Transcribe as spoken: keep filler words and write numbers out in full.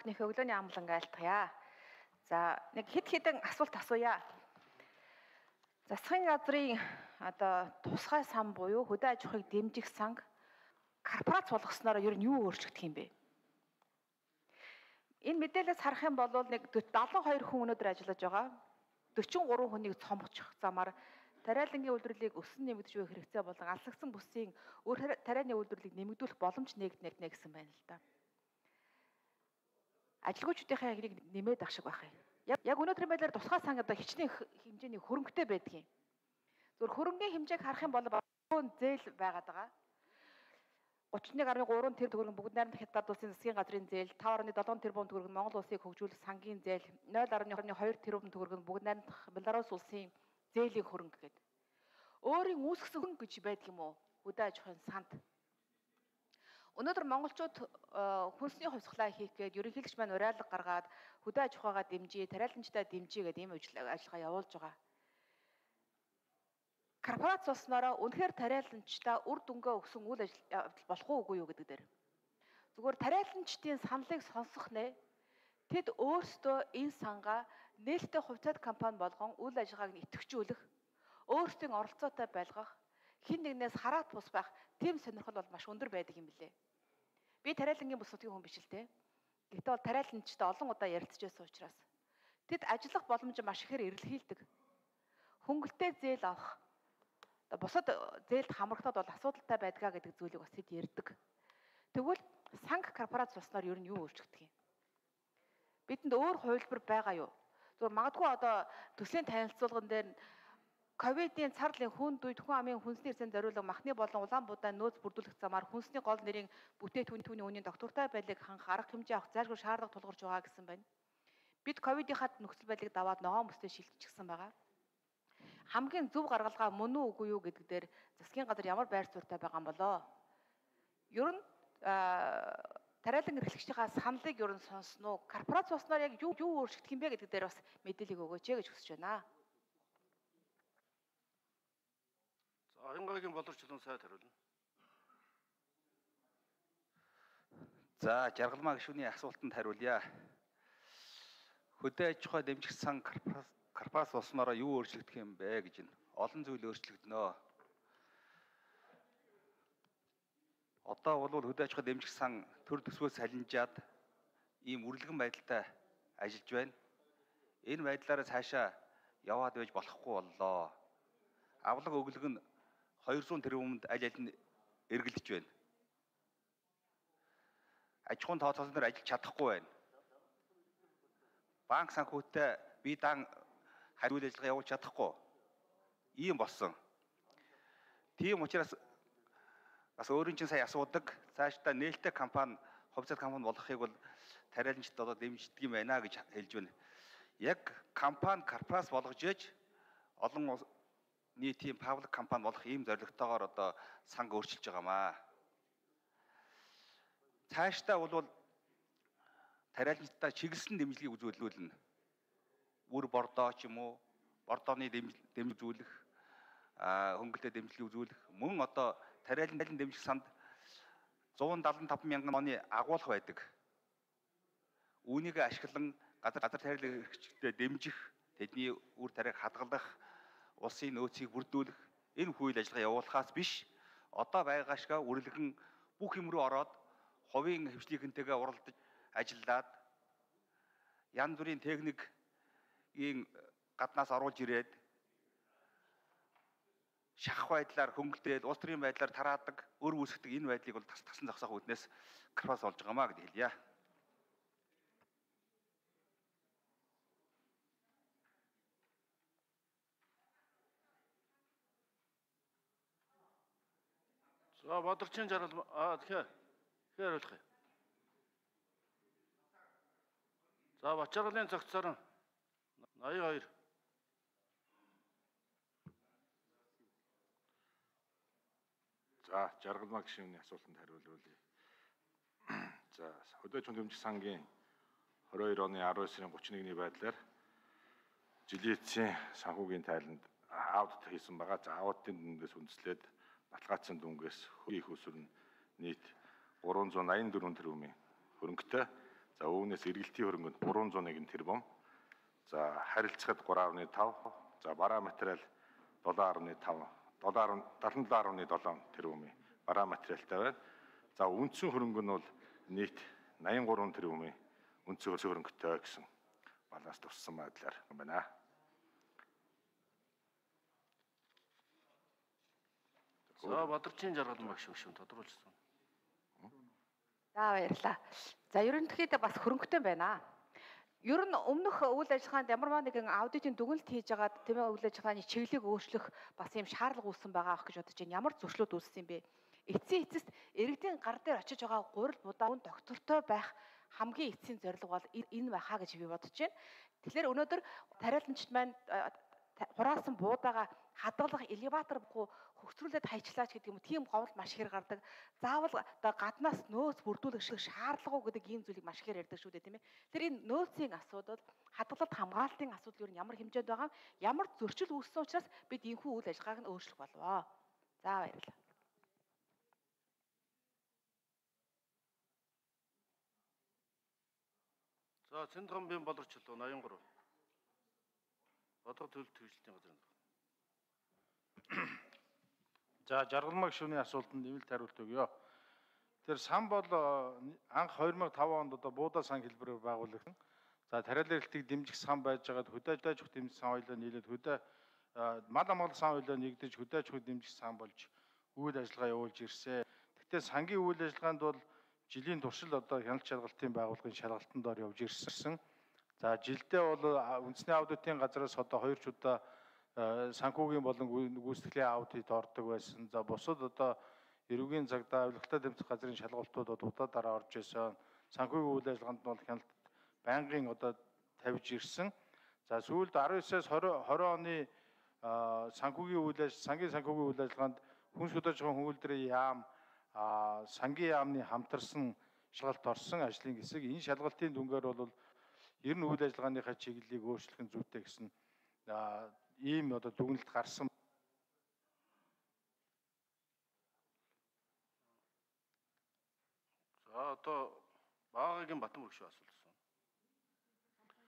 бүхнийхээ өглөөний амлан айлтгая. За нэг хэд хэдэн асуулт асууя. Засгийн газрын одоо тусгай сан буюу хөдөө аж ахуйг дэмжих санг корпорац болгосноор ер нь юу өөрчлөгдөх юм бэ? Энэ мэдээлэлээс харах юм бол нэг дадлан хоёр хүн өнөөдөр ажиллаж байгаа. дөрвөн гурван хүнийг цомгочих замаар тариалангийн үйлдвэрлэлийг өсөн нэмэгдэж буй хэрэгцээ болон алсагсан бүсийн өөр тарианы үйлдвэрлэлийг нэмэгдүүлэх боломж нэгднэ гэсэн байна л да. Ажилгүйчдийнхээ хэмжээг нэмээд ах шиг байх юм. Яг яг өнөөдрийн байдлаар тусгай сан одоо хичнээн хэмжээний хөрөнгөтэй байдгийг. Зөвхөн хөрөнгөний хэмжээг харах юм бол багаан зээл байгаад байгаа. гутрын нэг гаруй гурван тэрбум төгрөг бүгд найрамдах хятад улсын засгийн газрын зээл, таван гаруй долоон тэрбум төгрөг нь Монгол улсыг хөгжүүлэх сангийн зээл, нуль гаруй хоёр тэрбум төгрөг нь бүгд найрамдах Беларусь улсын зээлийн хөрөнгө гэдэг. Өөрийн үүсгэсэн хөрөнгө гэж байдаг юм уу? Хөдөө аж ахуйн санд. Өнөөдөр монголчууд хүнсний хувьсгалаа хийх гээд ерөнхийлөгч маань уриалга гаргаад хөдөө аж ахуйгаа дэмжиж, тариаланчдаа дэмжиж гэдэг ийм ажиллагаа явуулж байгаа. Корпорац болсноороо үнэхээр тариаланчдаа үр дүнгээ өгсөн үйл ажиллагаа болох уугүй юу гэдэг дээр. Зүгээр тариаланчдын саналыг сонсох нэ тэд өөрсдөө энэ сангаа нээлттэй хувьцаат компани болгон үйл ажиллагааг нь идэвхжүүлэх, өөрсдийн оролцоотой байлгах, хин нэгнээс хараад бус байх тийм сонирхол бол маш өндөр байдаг юм билээ. Би тариалангийн бус нутгийн хүн биш л те. Гэхдээ бол тариаланчтай олон удаа ярилцчихсан учраас тэд ажиллах боломж маш ихээр эрэлхийлдэг. Хөнгөлтэй зээл авах, бусад зээлд хамрагдаад бол асуудалтай байдгаа гэдэг зүйлийг бас тэд ярьдаг. Тэгвэл санг корпорац болсноор ер нь юу өөрчлөгдөх юм? Бидэнд өөр хувилбар байгаа юу? Зөвхөн магадгүй одоо төслийн танилцуулган дээр ковидын царлын хүнд үед хүн амын хүнсний эрсэнд зориулсан махны болон улаан будайн нөөц бүрдүүлэх замаар хүнсний гол нэрийн бүтээтүүний үнийн доктортой байдлыг хангах арга хэмжээ авах зайлшгүй шаардлага тулгарч байгаа гэсэн байна. Бид ковидынхаа нөхцөл байдлыг даваад ногоон бүстэй шилжчихсэн байгаа. Хамгийн зөв гаргалгаа мөн үү үгүй юу гэдэг дээр засгийн газар ямар байр суурьтай байгаа юм болоо? Ер нь тариалан эрхлэгчдийнхаа саналыг ер нь сонсноо. Корпорац болсноор яг юу юу өөрчлөгдөх юм бэ гэдэг дээр бас мэдээлэл өгөөч гэж хүсэж байна. За Хянгагийн боловсруулалтын сайд хариулна. За жаргалмаа гишүүний асуултанд хариулъя. Хөдөө аж ахуй дэмжих сан корпорац болсноороо юу өөрчлөгдөх юм бэ гэж нь олон зүйл өөрчлөгдөнө. Одоо бол хөдөө аж ахуй дэмжих сан төр төсвөөс салинжаад ийм үрлэгэн байдалтай ажиллаж байна. Энэ байдлаараа цаашаа яваад байж болохгүй боллоо. Авлага өглөг нь хоёрсуун тэрбумд аль аль нь эргэлдэж байна. Аж ахуйн тооцоолсон дээр ажиллаж чадахгүй байна. Банк санхүүтэй бие даан хариуул ажиллагаа явуулж чадахгүй. Ийм болсон. Тийм учраас бас өөрийн чинь сая асуудаг цаашдаа нээлттэй компани, хувьцаат компани болохыг бол тариаланчд одоо дэмждэг юм байна гэж хэлж байна. Яг компани корпорац болгож ээж олон нийтийн паблик компани болох ийм зорилготойгоор одоо санг өөрчилж байгаамаа. Цаашдаа бол тариаланчдаа чиглэсэн дэмжлэгийг үзүүлүүлнэ. Үр бордоо ч юм уу, бордооны дэмжлэг үзүүлэх, хөнгөлтэй дэмжлэг үзүүлэх, мөн одоо тариалан дэмжих санд зуун далавар и таван мянган оны агуулга байдаг. Үүнийг ашиглан газар газар тариалан эрхлэгчдэд дэмжих, тэдний үр тариаг хадгалах, улсын нөөцийг бүрдүүлэх энэ үйл ажиллагаа явуулахаас биш, одоо байгаа шиг үрлэгэн бүх юм руу ороод хувийн хвшлийнхэнтэйгээ уралдаж ажиллаад янз бүрийн техникийн гаднаас оруулж ирээд шахах байдлаар хөнгөлтөд улс төрийн байдлаар тараадаг, өр үүсгдэг энэ байдлыг бол тас тасан зогсоох үүднээс корпорац болж байгаамаа гэж хэлье. За Бадарчин жаргал аа тэгэхээр тэгэхээр хариулах юм. За Бачаргалын цогцсорон ноён хоёр. За жаргалмаа гишүүний асуултанд хариулъя. За хөдөө аж ахуйн дэмжих сангийн хорин хоёр оны арван сарын гуравны нэгний байдлаар жилийн эцсийн санхүүгийн тайланд аудит хийсэн байгаа. За аудитын дүнгээс үндэслээд баталгаажсан дүнгээс хөрийн их усүр нь нийт гурван зуун аян дөрвөн тэрбумын хөрөнгөтэй За үүнээс эргэлтийн хөрөнгөнд гурван зуун нэгэн тэрбум. За харилцагт гурван гаруй тав. За бараа материал долоон гаруй тав, седем гаруй седем тэрбумын бараа материалтай байна. За үндсэн хөрөнгө нь бол нийт восемьдесят и три тэрбумын үндсэн хөрөнгөтэй гэсэн баланс туссан байдлаар юм байна. За Бадарчин Жаргалан багш гишүүн тодруулсан. За баярлалаа. За ерөнхийдөө бас хөрөнгөтэй байна. Ер нь өмнөх үйл ажиллагаанд ямарваа нэгэн аудитын дүгнэлт хийж байгаад тийм ээ үйл ажиллагааны чиглэлийг өөрчлөх бас юм шаардлага үүссэн байгаа ах гэж бодож байна. Ямар зөрчлүүд үүссэн юм бэ? Эцсийн эцэст иргэдийн гар дээр очиж байгаа гурил будаа үн доктортой байх хамгийн эцсийн зорилго бол энэ байхаа гэж би бодож байна. Тэгэхээр өнөөдөр тариаланчид маань хураасан буудаага хадгалах элеватор буюу хөгцрүүлээд хайчлаач гэдэг юм тийм говьл маш их гардаг. Заавал одоо гаднаас нөөц бүрдүүлэх шиг шаардлага уу гэдэг ийм зүйлийг маш их ярьдаг шүү дээ тийм ээ. Тэр энэ нөөцийн асуудал хадгалалт хамгаалтын асуудал юу нь ямар хэмжээнд байгаа юм, ямар зөрчил үүссэн учраас бид энэхүү үйл ажиллагааг нь өөрчлөх болвоо. За баярлалаа. За Цэнгамбын боловчлоо восемьдесят три. Бодгод төлөлт хэрэгжилтийн газрын. За Жаргалмаг шүүний асуултанд нэмэлт хариулт өгье. Тэр сан бол анх two thousand five онд одоо буудаа сан хэлбэрээр байгуулагдсан. За тариалан эрхлэлтийг дэмжих сан байж байгаад хөдөө аж ахуй дэмжих сан хоёлоо нийлээд хөдөө мал амгалан сан хоёлоо нэгдэж хөдөө аж ахуй дэмжих сан болж үйл ажиллагаа явуулж ирсэн. Гэхдээ сангийн үйл ажиллагаанд бол жилийн туршил одоо хяналт шалгалтын байгууллагын шалгалтанд дор явж ирсэн. За жилдээ бол үндэсний аудитын газраас одоо хоёр ч удаа санхүүгийн болон гүйцэтгэлийн аудит ордог байсан. За бусад одоо эрүүгийн цагдаа авилгалтай тэмцэх газрын шалгалтуудад удаадараа орж ирсэн. Санхүүгийн үйл ажиллагаанд нь бол хяналт байнгын одоо тавьж ирсэн. За сүүлд nineteen-аас twenty оны санхүүгийн үйл ажиллагаа, сангийн санхүүгийн үйл ажиллагаанд хүнс хөдөлж байгаа хөнгөлдрийн яам, сангийн яамны хамтарсан шалгалт орсон ажлын хэсэг. Энэ шалгалтын дүнгээр бол ер нь үйл ажиллагааныхаа чиглэлийг өөрчлөх нь зүйтэй гэсэн ийм одоо дүгнэлт гарсан. За одоо Баагагийн Батан багш асуулсан.